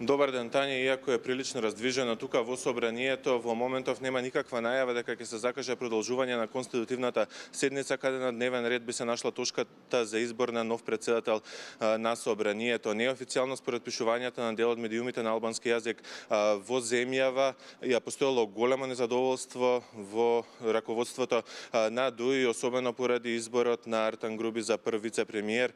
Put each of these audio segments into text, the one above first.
Добар ден, Тања, иако е прилично раздвижено тука во собранието, во моментов нема никаква најава дека ќе се закаже продолжување на конститутивната седница, каде на дневен ред би се нашла точката за избор на нов председател на собранието. Неофицијално според пишувањата на дел од медиумите на албански јазик во земјава ја постоело големо незадоволство во раководството на ДУИ, особено поради изборот на Артан Груби за прв вице-премиер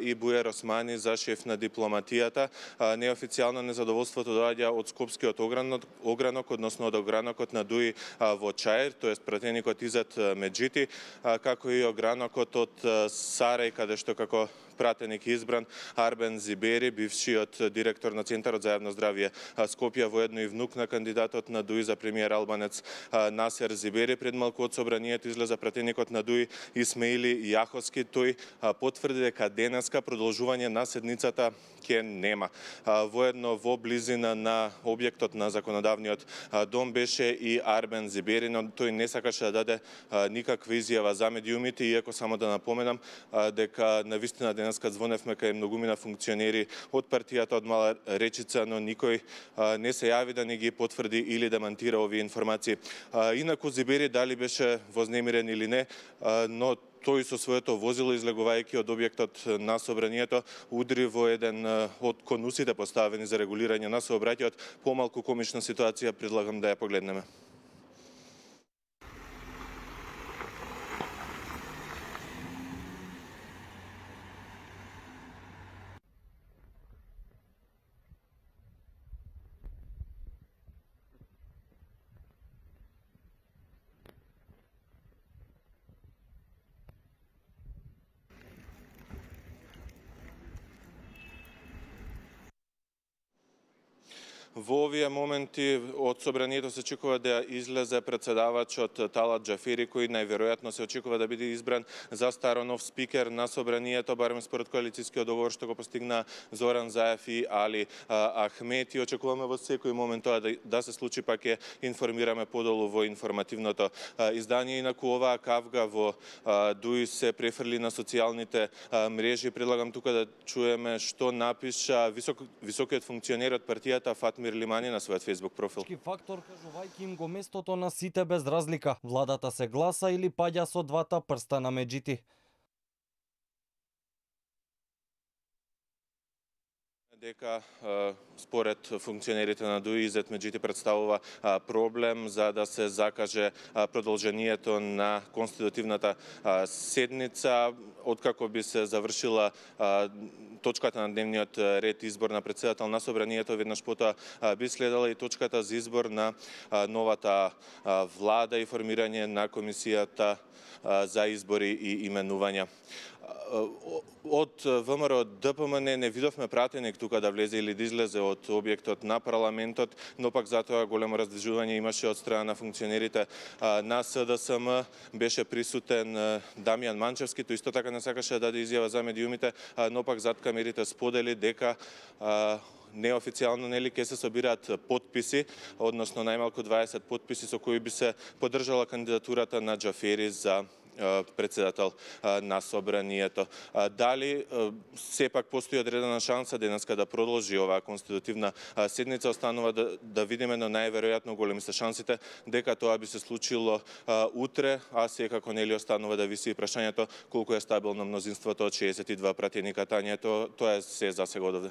и Бујар Османи за шеф на дипломатијата. Неофицијално незадоволството доаѓа од Скопскиот огранок, односно од огранокот на ДУИ во Чаир, тоест пратеникот Изет Меджити, како и огранокот од Сарај, каде што како пратеник избран Арбен Зибери, бившиот директор на Центарот за јавно здравје Скопје, воедно и внук на кандидатот на ДУИ за премиер албанец Насер Зибери. Пред малку од собранието излеза пратеникот на ДУИ Исмеили Јаховски. Тој потврди дека денеска продолжување на седницата ќе нема. Воедно во близина на објектот на законодавниот дом беше и Арбен Зибери, но тој не сакаше да даде никаква изјава за медиумите, иако само да напоменам дека навистина денеска звоневме кај многумина функционери од партијата од Мала Речица, но никој не се јави да не ги потврди или демантира овие информации. Инаку Зибери дали беше вознемирен или не, но тој со своето возило, излегувајќи од објектот на собранието, удри во еден од конусите поставени за регулирање на сообраќајот. Помалку комична ситуација, предлагам да ја погледнеме. Во овие моменти од собранието се очекува да излезе председавачот Талат Џафери, кој најверојатно се очекува да биде избран за старонов спикер на собранието, барем според коалицијскиот договор што го постигна Зоран Заев и Али Ахмети. Очекуваме во секој момент тоа да се случи, па ќе информираме подолу во информативното издание. Инаку оваа кавга во ДУИ се префрли на социјалните мрежи. Предлагам тука да чуеме што напиша високиот функционер од партијата Фатмир Лимани на својот Facebook профил. Фактор кажувајќи им го местото на сите без разлика. Владата се гласа или паѓа со двата прста на Меджити. Дека според функционерите на ДУИ Изет Меджити представува проблем за да се закаже продолжението на конститутивната седница, откако би се завршила точката на дневниот ред избор на председател на собранието. Веднаш потоа би следела и точката за избор на новата влада и формирање на комисијата за избори и именувања. Од ВМРО ДПМН не видовме пратеник тука да влезе или да излезе од објектот на парламентот, но пак затоа големо раздвижување имаше од страна на функционерите на СДСМ. Беше присутен Дамјан Манчевски, тој исто така не сакаше да даде изјава за медиумите, но пак зад камерите сподели дека неофицијално ќе се собираат потписи, односно најмалку 20 потписи со кои би се поддржала кандидатурата на Џафери за председател на собранието. Дали сепак постои одредена шанса денеска да продолжи оваа конститутивна седница, останува да видиме, но најверојатно големи се шансите дека тоа би се случило утре, а секако нели останува да виси прашањето колку е стабилно мнозинството од 62 пратеника. Тања, тоа е се за сега од овде.